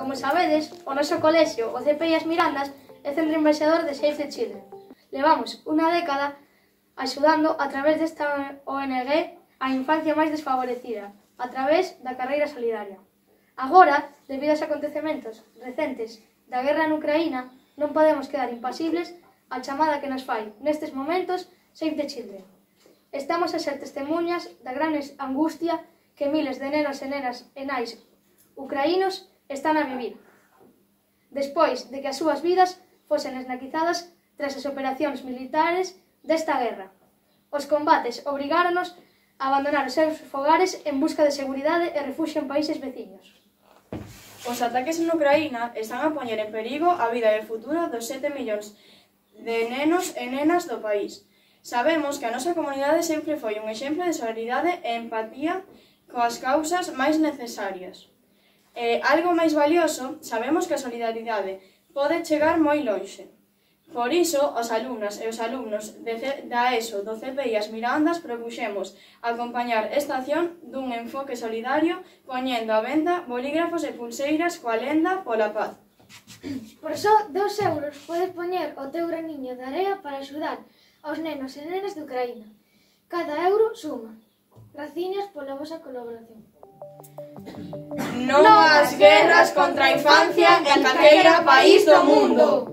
Como sabedes, o noso colexio, o CPI As Mirandas, é centro embaixador de Save the Children. Levamos unha década axudando a través desta ONG a infancia máis desfavorecida, a través da carreira solidaria. Agora, debido aos acontecementos recentes da guerra en Ucraína, non podemos quedar impasibles á chamada que nos fai, nestes momentos, Save the Children. Estamos a ser testemunhas da gran angustia que miles de nenos e nenas e nais ucraínos están a vivir, despois de que as súas vidas fosen esnaquizadas tras as operacións militares desta guerra. Os combates obrigáronos a abandonar os seus fogares en busca de seguridade e refuxio en países veciños. Os ataques en Ucraína están a poñer en perigo a vida e o futuro dos 7 millóns de nenos e nenas do país. Sabemos que a nosa comunidade sempre foi un exemplo de solidaridade e empatía coas causas máis necesarias. Algo máis valioso, sabemos que a solidaridade pode chegar moi lonxe. Por iso, os alumnas e os alumnos da ESO do CPI As Mirandas propuxemos acompañar esta acción dun enfoque solidario poñendo á venda bolígrafos e pulseiras coa lenda pola paz. Por só 2 euros podes poñer o teu graniño de area para axudar aos nenos e nenas de Ucraína. Cada euro suma. Graciñas pola vosa colaboración. Non ás guerras contra a infancia en calquera país do mundo.